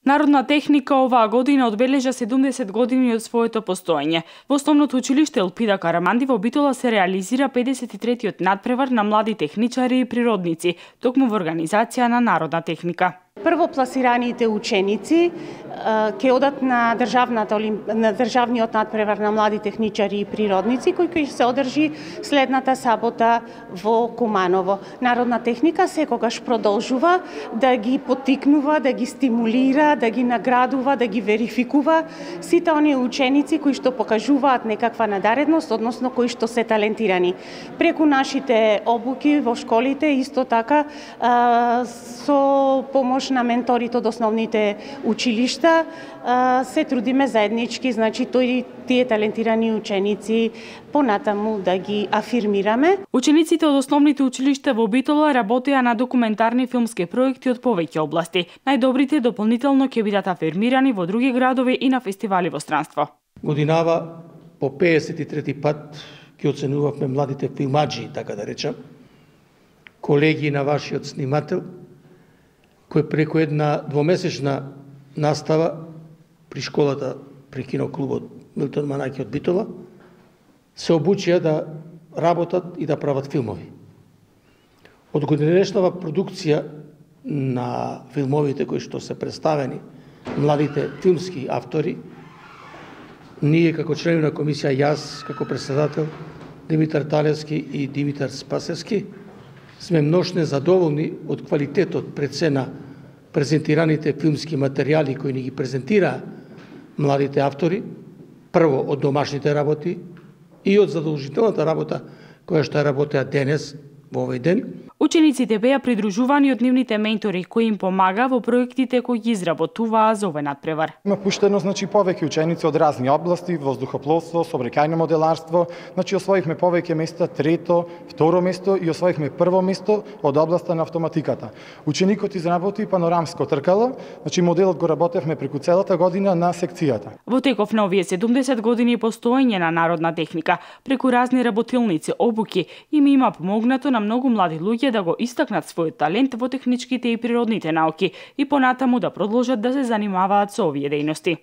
Народна техника оваа година одбележа 70 години од своето постоење. Во основното училиште Елпида Караманди во Битола се реализира 53-тиот надпревар на млади техничари и природници, токму во организација на Народна техника. Првопласираните ученици ќе одат на државниот надпревар на млади техничари и природници, кој ќе се одржи следната сабота во Куманово. Народна техника секогаш продолжува да ги поттикнува, да ги стимулира, да ги наградува, да ги верификува сите оние ученици кои што покажуваат некаква надаредност, односно кои што се талентирани. Преку нашите обуки во школите, исто така со помош на менторите од основните училишта, се трудиме заеднички, значи тие талентирани ученици понатаму да ги афирмираме. Учениците од основните училишта во Битола работеа на документарни филмски проекти од повеќе области. Најдобрите дополнително ќе бидат афирмирани во други градови и на фестивали во странство. Годинава по 53 пат ќе оценувавме младите филмаджи, така да речам, колеги на вашиот снимател, кој преку една двомесечна настава при школата, при киноклубот Милтон Манаки од Битола, се обучија да работат и да прават филмови. Од годинешнава продукција на филмовите кои што се представени, младите филмски автори, ние како члени на комисија, јас како председател, Димитар Талевски и Димитар Спасевски, сме множно задоволни од квалитетот пред се на презентираните филмски материјали кои ни ги презентираа младите автори, прво од домашните работи и од задолжителната работа која што работеа денес во овој ден. Учениците беа придружувани од нивните ментори кои им помага во проектите кои ги изработуваа за овој надпревар. Има пуштено повеќе ученици од разни области, воздухопловство, сообраќајно моделарство, освоивме повеќе места, трето, второ место и освоивме прво место од областа на автоматиката. Ученикот изработи панорамско тркало, моделот го работевме преку целата година на секцијата. Во теков на овие 70 години постоење на Народна техника, преку разни работилници, обуки, им има помогнато на многу млади луѓе да го истакнат својот талент во техничките и природните науки и понатаму да продолжат да се занимаваат со овие дејности.